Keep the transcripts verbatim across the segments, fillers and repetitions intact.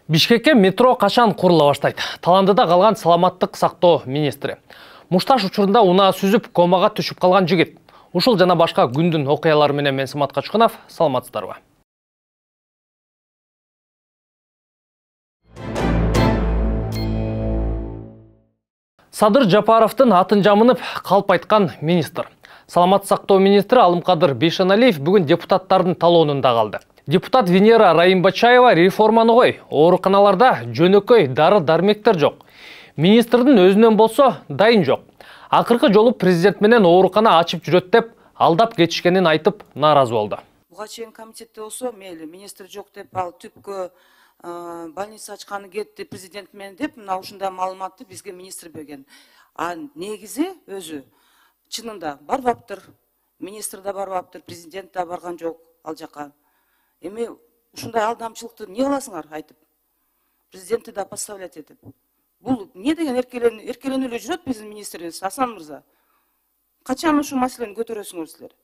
Бишкекке метро качан курула баштайт? Таландыда калган саламаттык сактоо министри. Мушташ учурунда унаа сүзүп, комага түшүп калган жигит. Ушул жана башка күндүн окуялары менен мен Самат Качкынов, саламатсыздарбы? Садыр Жапаровдун атын жамынып калп айткан министр. Саламаттык сактоо министри Алымкадыр Бейшеналиев бүгүн депутаттардын талоонунда калды. Депутат Венера Райымбачаева реформаны кой, ооруканаларда жөнөкөй дары-дармектер жок. Министрдин өзүнөн болсо дайын жок. Акыркы жолу президент менен оорукана ачып жүрөт деп алдап кетишкенин айтып нааразы болду. Буга чейин комитетте болсо мейли министр жок деп ал түпкө больница ачканы кетти президент менен деп мына ушундай маалыматты бизге министр берген. А негизи өзү чынында барбаптыр. Министр да барбаптыр, президент да барган жок ал жака. Эми ушундай алдамчылыкты эмне кыласыңар айтып? Президентти да поставлять этип. Бул эмне деген эркелен эркеленип эле жүрөт биздин министрибиз Асан мырза. Качан ушул маселени көтөрөсүңөр силер?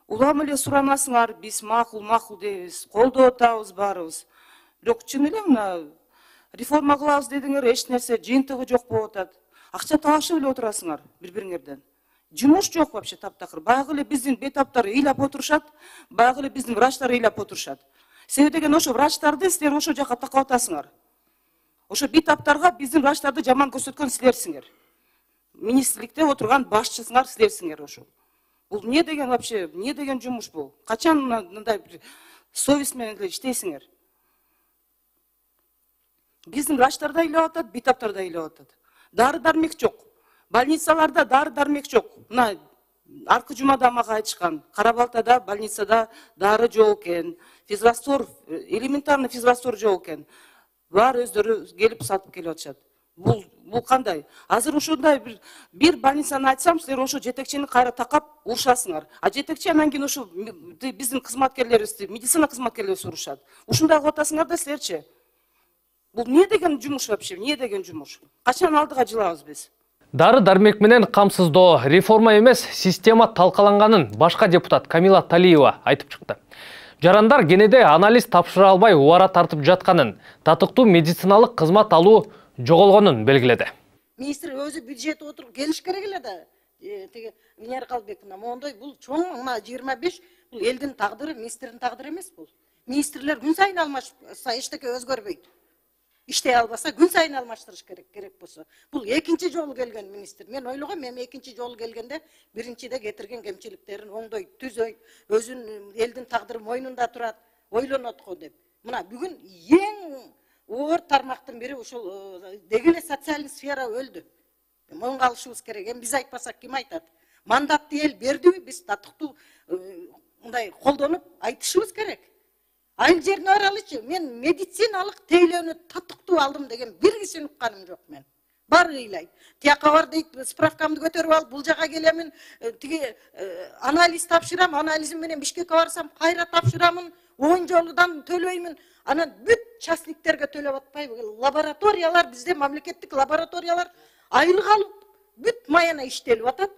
Улам эле сурамасыңар, биз макул макул дейбиз, колдоп атабыз баарыбыз. Бирок чын эле мына реформа кылабыз дедиңер, эч нерсе жыйынтыгы жок болуп атат. Акча талашып эле отурасыңар бири-бириңерден. Жумуш жок вообще таптакыр. Баягы эле биздин бетаптар ыйлап отурушат, баягы эле биздин врачтар ыйлап отурушат. Себеби деген ошо врачтарды силер ошо жака такап атасыңар. Ошо бетаптарга биздин врачтарды жаман көрсөткөн силерсиңер. Министрликте отурган башчысыңар силерсиңер ошо. Бул эмне деген вообще, эмне деген жумуш бул? Качан мындай совесть менен иштейсиңер? Биздин врачтар да ыйлап атат, бетаптар да ыйлап атат. Дары-дармек жок. Больницаларда дары-дармек жок. Мына аркы жумада мага айтышкан. Кара-Балтада больницада дары жок экен. Физраствор, элементарный физраствор жок экен. Бар өздөрү келип сатып келип атышат. Бул бул кандай? Азыр ушундай бир бир больницаны айтсам, силер ошо жетекчини кайра такап урушасыңар. А жетекчи анан кийин ошо биздин кызматкерлерибизди, медицина кызматкерлерибиз урушат. Ушундай кылып атасыңар да силерчи. Бул эмне деген жумуш вообще? Эмне деген жумуш? Качан алдыга жылабыз биз? Дары-дармек менен камсыздоо реформа эмес, система талкаланганын башка депутат Камила Талиева айтып чыкты. Жарандар кенеде анализ тапшыра албай убара тартып жатканын, татыктуу медициналык кызмат алуу жоголгонун белгиледи. Министр өзү бюджет отуруп келиш керек эле да. Теги Венера Калбековна мондой бул чоң мына жыйырма беш бул элдин тагдыры, министрдин тагдыры эмес бул. Министрлер күн сайын алмашса эчтеке өзгөрбөйт. Иштей албаса күн сайын алмаштырыш керек керек болсо. Бул экинчи жолу келген министр. Мен ойлогом, мен экинчи жолу келгенде биринчиде кетирген кемчиликтерин оңдой, түзөй, өзүн элдин тагдыры мойнунда турат, ойлонот го деп. Мына бүгүн эң оор тармактын бири ушул деги эле социалдык сфера өлдү. Моюнга алышыбыз керек. Эми биз айтпасак ким айтат? Мандатты эл бердиби? Биз татыктуу мындай колдонуп айтышыбыз керек. Айыл жерине баралычы, мен медициналык тейлөөнү татыктуу алдым деген бир кишини укканым жок мен. Баары ыйлайт. Тияка бар дейт, справкамды көтөрүп алып, бул жака келемин, тиги анализ тапшырам, анализим менен Бишкекке барсам, кайра тапшырамын, он жолудан төлөймүн. Анан бүт частниктерге төлөп атпайбы? Лабораториялар, бизде мамлекеттик лабораториялар айлык алып, бүт маяна иштелип атат.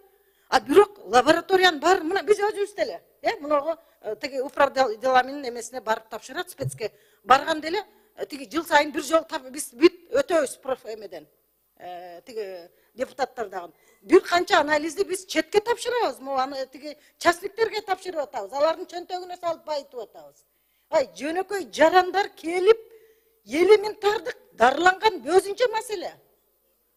А бирок лабораториянын баары мына биз өзүбүз деле, э, мынагы тиги управ делами эмесине барып тапшырат, спецке барган деле, тиги жыл сайын бир жол биз бүт өтөбүз проф эмеден. Э, тиги депутаттар дагы. Бир канча анализди биз четке тапшырабыз, могу тиги частниктерге тапшырып атабыз. Алардын чөнтөгүнө салып байытып атабыз. Ай, жөнөкөй жарандар келип, элементардык дарыланган өзүнчө маселе.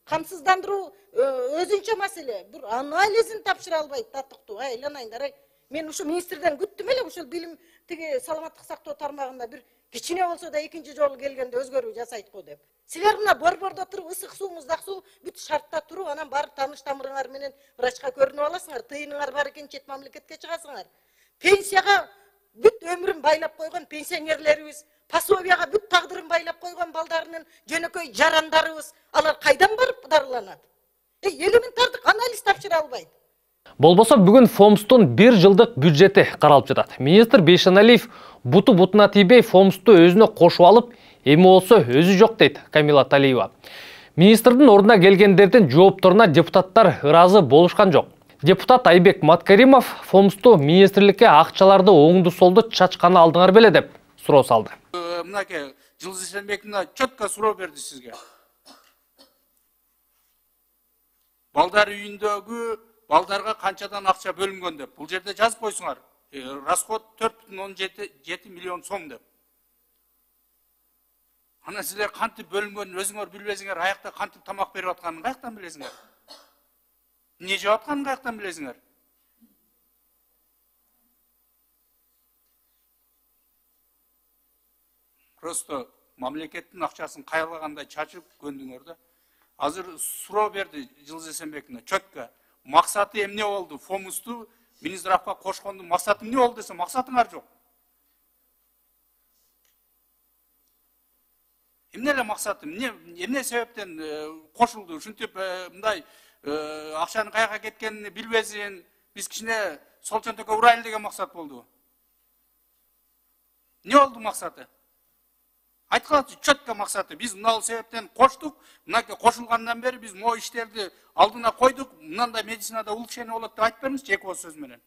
Камсыздандыруу өзүнчө маселе. Бир анализин тапшыра албайт татыктуу. Айланайындар, ай. Мен ушу министрден күттүм эле ушул билим тиги саламаттык сактоо тармагында бир кичине болсо да экинчи жолу келгенде өзгөрүү жасайт го деп. Силер мына борбордо туруп, ысык суу, муздак суу бүт шартта туруп, анан барып тааныш тамырыңар менен врачка көрүнүп аласыңар, тыйыныңар бар экен, чет мамлекетке чыгасыңар. Пенсияга бүт өмүрүн байлап койгон пенсионерлерибиз, пособияга бүт тагдырын байлап койгон балдарынын жөнөкөй жарандарыбыз, алар кайдан барып дарыланат? Э, элементардык анализ тапшыра албайт. Болбосо бүгүн ФОМСтун бир жылдык бюджети каралып жатат. Министр Бейшеналиев буту бутуна тийбей ФОМСту өзүнө кошуп алып, эми болсо өзү жок дейт Камила Талиева. Министрдин ордуна келгендердин жоопторуна депутаттар ыраазы болушкан жок. Депутат Айбек Маткаримов ФОМСту министрликке акчаларды оңду солду чачканы алдыңар беле деп суроо салды. мынакей Жылдыз Эсенбековна четко суроо берди сизге. Балдар үйүндөгү балдарга канчадан акча бөлүнгөн деп. Бул жерде жазып койсуңар. Расход төрт бүтүн ондон жети миллион сом деп. Ана силер кантип бөлүнгөнүн өзүңөр билбесиңер, аякта кантип тамак берип атканын каяктан билесиңер? Эмне жеп атканын каяктан билесиңер? Просто мамлекеттин акчасын кайлагандай чачып көндүңөр да. Азыр суроо берди Жылдыз Эсенбековна четко. Максаты эмне болду? Фомусту Минздравга кошкондун максаты эмне болду десе, максатыңар жок. Эмне эле максаты? Эмне эмне себептен кошулду? Ушинтип мындай акчанын каяка кеткенин билбесин, биз кичине сол чөнтөккө урайлы деген максат болду. Эмне болду максаты? Айткылачы четко максаты. Биз мынал себептен коштук, мынакей кошулгандан бери биз могу иштерди алдына койдук, мындай медицинада улучшение болот деп айтып бериңизчи эки ооз сөз менен.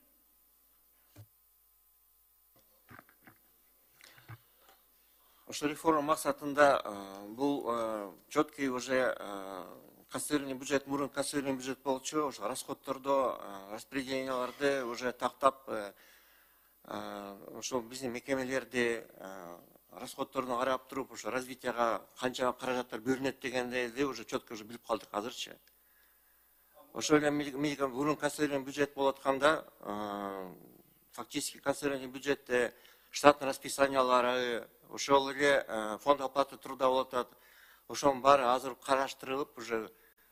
Ошо реформа максатында бул четкий уже конституционный бюджет, мурун конституционный бюджет болчу, ошо расходтордо распределенияларды уже тактап ошо биздин мекемелерди расходторуна карап туруп, ошо развитияга канча каражаттар бөлүнөт дегенди уже четко уже билип калдык азырчы. Ошо эле мурун конституционный бюджет болуп атканда, фактически конституционный бюджетте штаттын расписаниялары, ошол эле фонд оплаты труда болуп атат. Ошонун баары азыр караштырылып, уже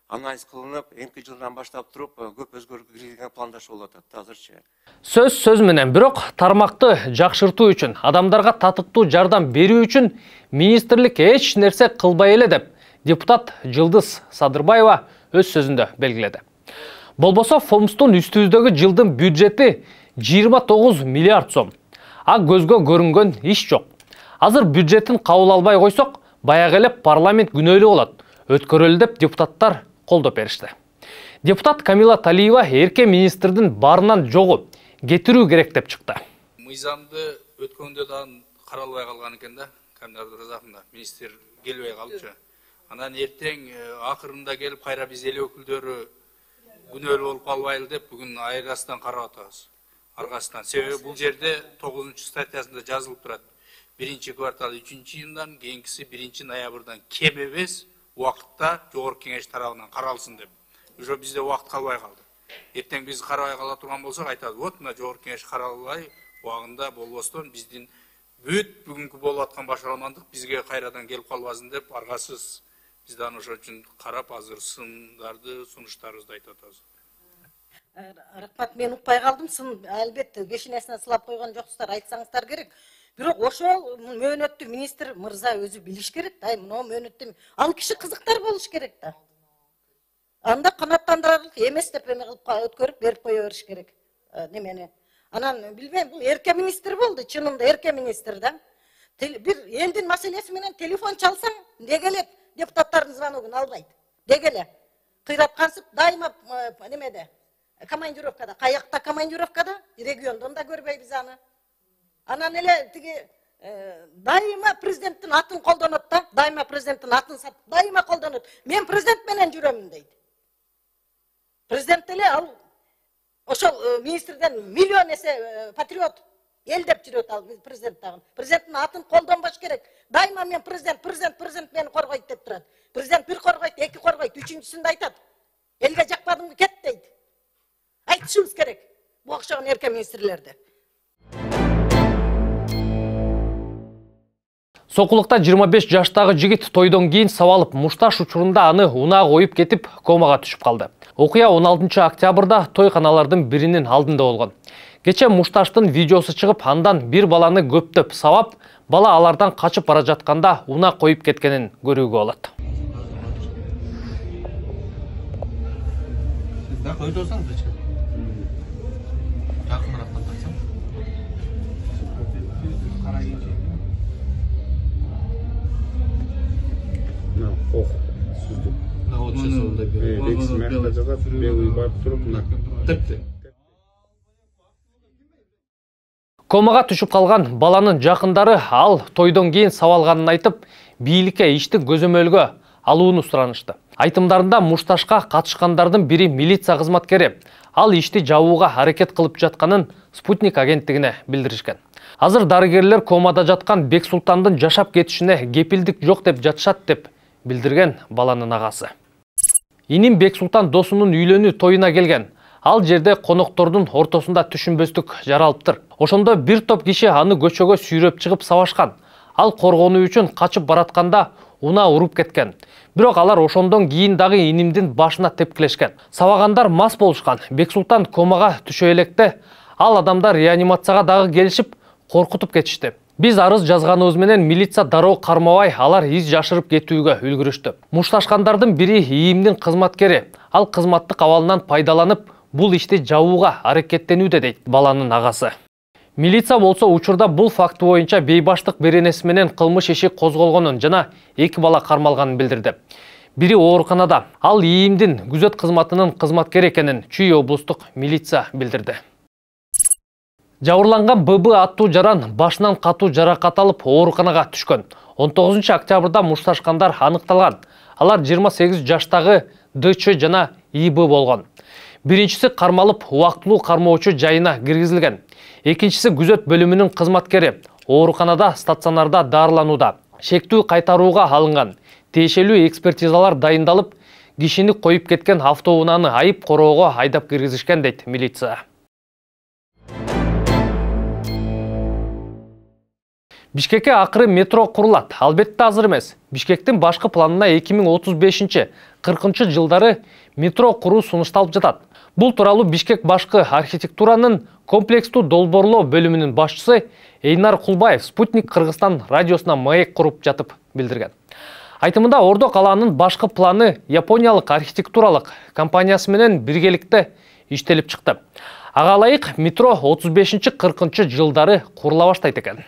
анализ кылынып, эмки жылдан баштап туруп көп өзгөрүүгө киргизген пландашуу болуп атат азырчы. Сөз сөз менен, бирок тармакты жакшыртуу үчүн, адамдарга татыктуу жардам берүү үчүн министрлик эч нерсе кылбай эле деп депутат Жылдыз Садырбаева өз сөзүндө белгиледи. Болбосо фомстун үстүбүздөгү жылдын бюджети жыйырма тогуз миллиард сом. А көзгө көрүнгөн иш жок. Азыр бюджеттин кабыл албай койсок, баягы эле парламент күнөөлүү болот. Өткөрөлү деп депутаттар колдоп беришти. Депутат Камила Талиева эрке министрдин барынан жогу кетирүү керек деп чыкты. Мыйзамды өткөндө да каралбай калган экен да, Камила Разаковна, министр келбей калчу. Анан эртең акырында келип кайра биз эл өкүлдөрү күнөөлүү болуп калбайлы деп бүгүн айырастан карап атабыз. Аргасынан. Себеби бул жерде тогузунчу статьясында жазылып турат. Биринчи квартал үчүнчү жылдан, кийинкиси биринчи ноябрдан кем эмес убакытта жогорку кеңеш тарабынан каралсын деп. Уже бизде убакыт калбай калды. Эртең биз карабай кала турган болсок айтат, вот мына жогорку кеңеш каралбай убагында болбостон биздин бүт бүгүнкү болуп аткан башарамандык бизге кайрадан келип калбасын деп аргасыз биз аны ошол үчүн карап азыр сындарды, сунуштарыбызды айтып атабыз. Рахмат, мен укпай калдым. Сын албетте бешинесине сылап койгон жоксуздар, айтсаңыздар керек. Бирок ошол мөөнөттү министр мырза өзү билиш керек да. Мына мөөнөттү ал киши кызыктар болуш керек да. Анда канаттандырарлык эмес деп эме кылып өткөрүп берип кое бериш керек. Немени. Анан билбейм, бул эрке министр болду, чынында эрке министр да. Бир элдин маселеси менен телефон чалсаң, деге эле депутаттардын звоногун албайт. Деге эле. Кыйраткансып дайыма немеде. Командировкада, каякта командировкада, региондон да көрбөйбүз аны. Анан эле тиги дайыма президенттин атын колдонот да, дайыма президенттин атын сатып, дайыма колдонот. Мен президент менен жүрөмүн дейт. Президент эле ал ошол министрден миллион эсе патриот эл деп жүрөт ал президент дагы. Президенттин атын колдонбош керек. Дайыма мен президент, президент, президент мени коргойт деп турат. Президент бир коргойт, эки коргойт, үчүнчүсүндө айтат. Элге жакпадыңбы кет дейт. Айтышыбыз керек. Бу окшогон эрке министрлерди. Сокулукта жыйырма беш жаштагы жигит тойдон кийин сабалып мушташ учурунда аны унаа коюп кетип комага түшүп калды. Окуя он алтынчы октябрда тойканалардын биринин алдында болгон. Кече мушташтын видеосу чыгып, андан бир баланы көптөп сабап, бала алардан качып бара жатканда унаа коюп кеткенин көрүүгө болот. Комага түшүп калган баланын жакындары ал тойдон кийин сабалганын айтып, бийликке иштин көзөмөлгө алууну суранышты. Айтымдарында мушташка катышкандардын бири милиция кызматкери. Ал ишти жабууга аракет кылып жатканын Спутник агенттигине билдиришкен. Азыр дарыгерлер комада жаткан Бексултандын жашап кетишине кепилдик жок деп жатышат деп билдирген баланын агасы. Иним Бексултан досунун үйлөнүү тоюна келген. Ал жерде коноктордун ортосунда түшүнбөстүк жаралыптыр. Ошондо бир топ киши аны көчөгө сүйрөп чыгып сабашкан. Ал коргонуу үчүн качып баратканда уна уруп кеткен. Бирок алар ошондон кийин дагы инимдин башына тепкилешкен. Сабагандар мас болушкан. Бексултан комага түшө электе ал адамдар реанимацияга дагы келишип коркутуп кетишти. Биз арыз жазганыбыз менен милиция дароо кармабай, алар из жашырып кетүүгө үлгүрүштү. Мушташкандардын бири ИИМдин кызматкери. Ал кызматтык абалынан пайдаланып, бул ишти жабууга аракеттенүүдө дейт баланын агасы. Милиция болсо учурда бул факт боюнча бейбаштык беренеси менен кылмыш иши козголгонун жана эки бала кармалганын билдирди. Бири ооруканада, ал ИИМдин күзөт кызматынын кызматкери экенин Чүй облустук милиция билдирди. Жабырланган ББ аттуу жаран башынан катуу жаракат алып ооруканага түшкөн. он тогузунчу октябрда мушташкандар аныкталган. Алар жыйырма сегиз жаштагы ДЧ жана ИБ болгон. Биринчиси кармалып убактылуу кармоочу жайына киргизилген. Экинчиси күзөт бөлүмүнүн кызматкери. Ооруканада стационарда дарыланууда. Шектүү кайтарууга алынган. Тиешелүү экспертизалар дайындалып, кишини коюп кеткен автоунааны айып короого айдап киргизишкен дейт милиция. Бишкекке акыры метро курулат. Албетте азыр эмес. Бишкектин башкы планына эки миң отуз бешинчи кыркынчы жылдары метро куруу сунушталып жатат. Бул тууралуу Бишкек башкы архитектуранын комплекстүү долбоорлоо бөлүмүнүн башчысы Эйнар Кулбаев Спутник Кыргызстан радиосуна маек куруп жатып билдирген. Айтымында Ордо калаанын башкы планы япониялык архитектуралык компаниясы менен биргеликте иштелип чыкты. Ага ылайык метро отуз бешинчи кыркынчы жылдары курула баштайт экен.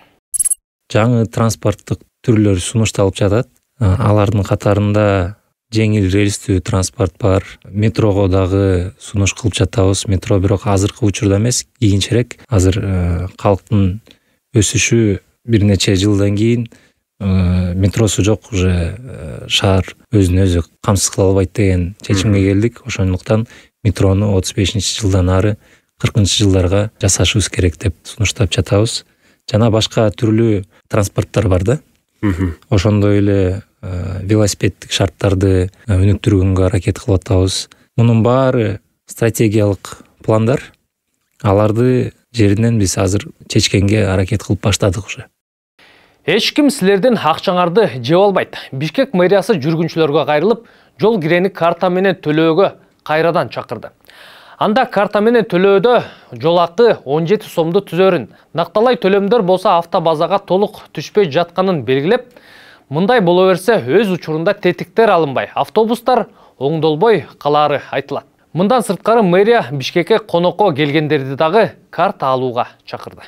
Жаңы транспорттук түрлөр сунушталып жатат. Алардын катарында жеңил рельстүү транспорт бар. Метрого дагы сунуш кылып жатабыз. Метро бирок азыркы учурда эмес, кийинчерээк. Азыр калктын өсүшү бир нече жылдан кийин метросу жок, уже шаар өзүн өзү камсыз кыла албайт деген чечимге келдик. Ошондуктан метрону отуз бешинчи жылдан ары кыркынчы жылдарга жасашыбыз керек деп сунуштап жатабыз. Жана башка түрлүү транспорттор бар да. Ошондой эле велосипеддик шарттарды өнүктүргөнгө аракет кылып атабыз. Мунун баары стратегиялык пландар. Аларды жеринен биз азыр чечкенге аракет кылып баштадык уже. Эч ким силердин акчаңарды жеп албайт. Бишкек мэриясы жүргүнчүлөргө кайрылып, жол кирени карта менен төлөөгө кайрадан чакырды. Анда карта менен төлөөдө жол акы он жети сомду түзөрүн, накталай төлөмдөр болсо автобазага толук түшпөй жатканын белгилеп, мындай боло берсе өз учурунда тетиктер алынбай, автобустар оңдолбой калаары айтылат. Мындан сырткары мэрия Бишкекке конокко келгендерди дагы карта алууга чакырды.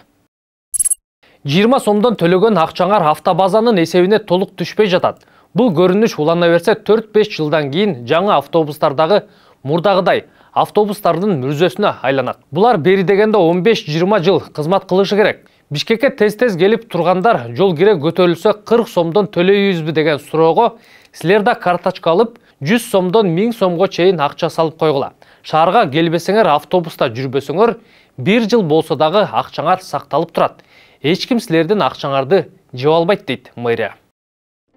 жыйырма сомдон төлөгөн акчаңар автобазанын эсебине толук түшпөй жатат. Бул көрүнүш улана берсе төрт беш жылдан кийин жаңы автобустардагы мурдагыдай автобустардын мүрзөсүнө айланат. Булар бери дегенде он беш жыйырма жыл кызмат кылышы керек. Бишкекке тез-тез келип тургандар жол кире көтөрүлсө кырк сомдон төлөйбүзбү деген суроого силер да карточка алып жүз сомдон миң сомго чейин акча салып койгула. Шаарга келбесеңер, автобуста жүрбөсөңөр бир жыл болсо дагы акчаңар сакталып турат. Эч ким силердин акчаңарды жеп албайт дейт мэрия.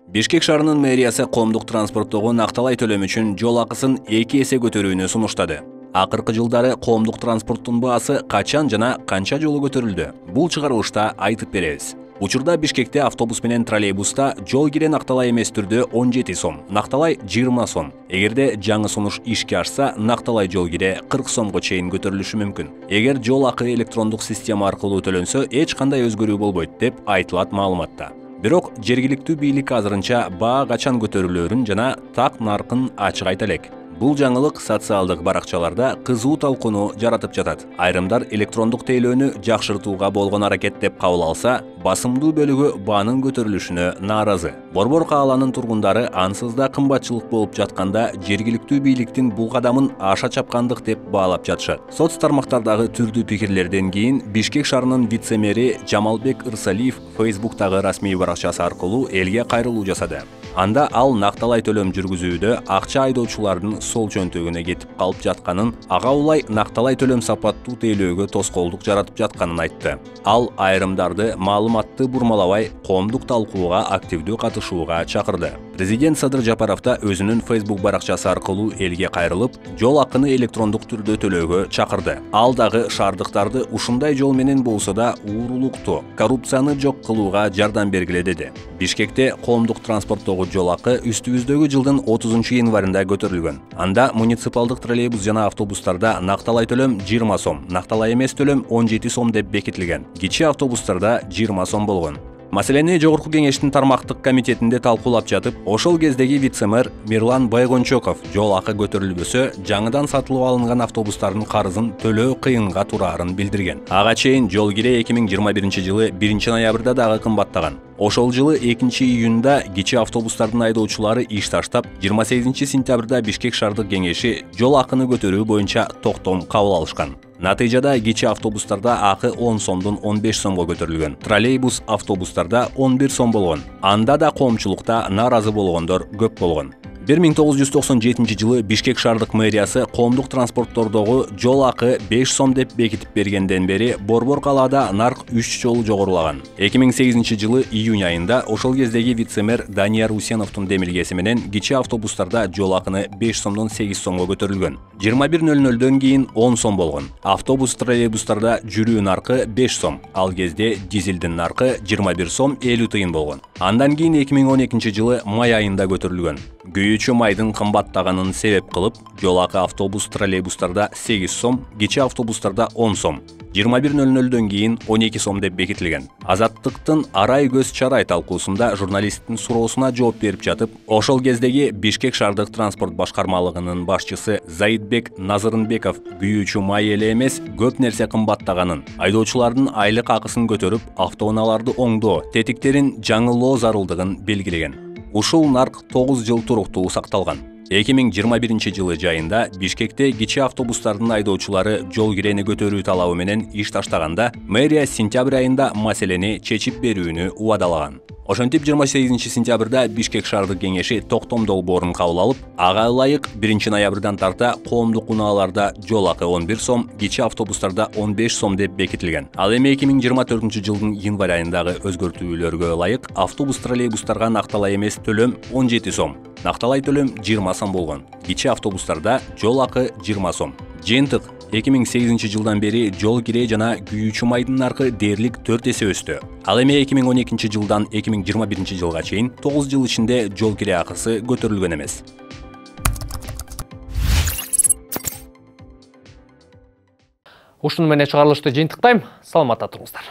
Бишкек шаарынын мэриясы коомдук транспорттогу накталай төлөм үчүн жол акысын эки эсе көтөрүүнү сунуштады. Акыркы жылдары коомдук транспорттун баасы качан жана канча жолу көтөрүлдү? Бул чыгарылышта айтып беребиз. Учурда Бишкекте автобус менен троллейбуста жол кире накталай эмес түрдө он жети сом, накталай жыйырма сом. Эгерде жаңы сунуш ишке ашса, накталай жол кире кырк сомго чейин көтөрүлүшү мүмкүн. Эгер жол акы электрондук система аркылуу төлөнсө, эч кандай өзгөрүү болбойт деп айтылат маалыматта. Бирок жергиликтүү бийлик азырынча баа качан көтөрүлөрүн жана так наркын ачык айта элек. Бул жаңылык социалдык баракчаларда кызуу талкууну жаратып жатат. Айрымдар электрондук тейлөөнү жакшыртууга болгон аракет деп кабыл алса, басымдуу бөлүгү баанын көтөрүлүшүнө нааразы. Борбор кааланын тургундары ансыз да кымбатчылык болуп жатканда жергиликтүү бийликтин бул кадамын аша чапкандык деп баалап жатышат. Соц тармактардагы түрдүү пикирлерден кийин Бишкек шаарынын вице-мэри Жамалбек Ырсалиев Фейсбуктагы расмий баракчасы аркылуу элге кайрылуу жасады. Анда ал накталай төлөм жүргүзүүдө акча айдоочулардын сол чөнтөгүнө кетип калып жатканын, ага улай накталай төлөм сапаттуу тейлөөгө тоскоолдук жаратып жатканын айтты. Ал айрымдарды маалыматты бурмалабай, коомдук талкууга активдүү катышууга чакырды. Президент Садыр Жапаров да өзүнүн Facebook баракчасы аркылуу элге кайрылып, жол акыны электрондук түрдө төлөөгө чакырды. Ал дагы шаардыктарды ушундай жол менен болсо да уурулукту, коррупцияны жок кылууга жардам бергиле деди. Бишкекте коомдук транспорттогу жол акы үстүбүздөгү жылдын отузунчу январында көтөрүлгөн. Анда муниципалдык троллейбус жана автобустарда накталай төлөм жыйырма сом, накталай эмес төлөм он жети сом деп бекитилген. Кичи автобустарда жыйырма сом болгон. Маселени Жогорку кеңештин тармактык комитетинде талкуулап жатып, ошол кездеги вице-мэр Мирлан Байгончоков жол акы көтөрүлбөсө, жаңыдан сатылып алынган автобустардын карызын төлөө кыйынга тураарын билдирген. Ага чейин жол кире эки миң жыйырма биринчи жылы биринчи ноябрда дагы кымбаттаган. Ошол жылы экинчи июнда кичи автобустардын айдоочулары иш таштап, жыйырма сегизинчи сентябрда Бишкек шаардык кеңеши жол акыны көтөрүү боюнча токтом кабыл алышкан. Натыйжада кичи автобустарда акы он сомдон он беш сомго көтөрүлгөн. Троллейбус автобустарда он бир сом болгон. Анда да коомчулукта нааразы болгондор көп болгон. бир миң тогуз жүз токсон жетинчи жылы Бишкек шаардык мэриясы коомдук транспорттордогу жол акы беш сом деп бекитип бергенден бери борбор калаада нарк үч жолу жогорулаган. эки миң сегизинчи жылы июнь айында ошол кездеги вице-мэр Данияр Усеновдун демилгеси менен кичи автобустарда жол акыны беш сомдон сегиз сомго көтөрүлгөн. жыйырма бир нөл нөлдөн кийин он сом болгон. Автобус троллейбустарда жүрүү наркы беш сом, ал кезде дизелдин наркы жыйырма бир сом элүү тыйын болгон. Андан кийин эки миң он экинчи жылы май айында көтөрүлгөн. Күйүүчү майдын кымбаттаганын себеп кылып, жол акы автобус троллейбустарда сегиз сом, кичи автобустарда он сом, жыйырма бир нөл нөлдөн кийин он эки сом деп бекитилген. Азаттыктын арай көз чарай талкуусунда журналисттин суроосуна жооп берип жатып, ошол кездеги Бишкек шаардык транспорт башкармалыгынын башчысы Заидбек Назырынбеков күйүүчү май эле эмес, көп нерсе кымбаттаганын, айдоочулардын айлык акысын көтөрүп, автоунааларды оңдоо, тетиктерин жаңылоо зарылдыгын белгилеген. Ушул нарк тогуз жыл туруктуу сакталган. эки миң жыйырма биринчи жылы жайында Бишкекте кичи автобустардын айдоочулары жол кирени көтөрүү талабы менен иш таштаганда, мэрия сентябрь айында маселени чечип берүүнү убадалаган. Ошентип жыйырма сегизинчи сентябрда Бишкек шаардык кеңеши токтом долбоорун кабыл алып, ага ылайык биринчи ноябрдан тарта коомдук унааларда жол акы он бир сом, кичи автобустарда он беш сом деп бекитилген. Ал эми эки миң жыйырма төртүнчү жылдын январь айындагы өзгөртүүлөргө ылайык автобус троллейбустарга накталай эмес төлөм он жети сом, накталай төлөм жыйырма сом болгон. Кичи автобустарда жол акы жыйырма сом. Жыйынтык эки миң сегизинчи жылдан бери жол кире жана күйүүчү майдын наркы дээрлик төрт эсе өстү. Ал эми эки миң он экинчи жылдан эки миң жыйырма биринчи жылга чейин тогуз жыл ичинде жол кире акысы көтөрүлгөн эмес. Ушуну менен чыгарылышты жыйынтыктайм. Саламатта туруңуздар.